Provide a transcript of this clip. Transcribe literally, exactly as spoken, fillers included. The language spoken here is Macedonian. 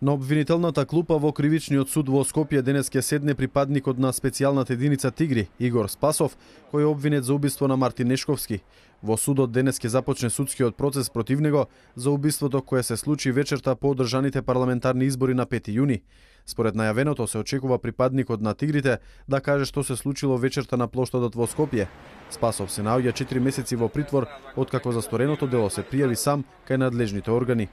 На обвинителната клупа во кривичниот суд во Скопје денес ќе седне припадникот на специјалната единица Тигри, Игор Спасов, кој е обвинет за убиство на Мартин Нешковски. Во судот денес ќе започне судскиот процес против него за убиството кое се случи вечерта по одржаните парламентарни избори на пети јуни. Според најавеното се очекува припадникот на Тигрите да каже што се случило вечерта на плоштадот во Скопје. Спасов се наоѓа четири месеци во притвор откако за стореното дело се пријави сам кај надлежните органи.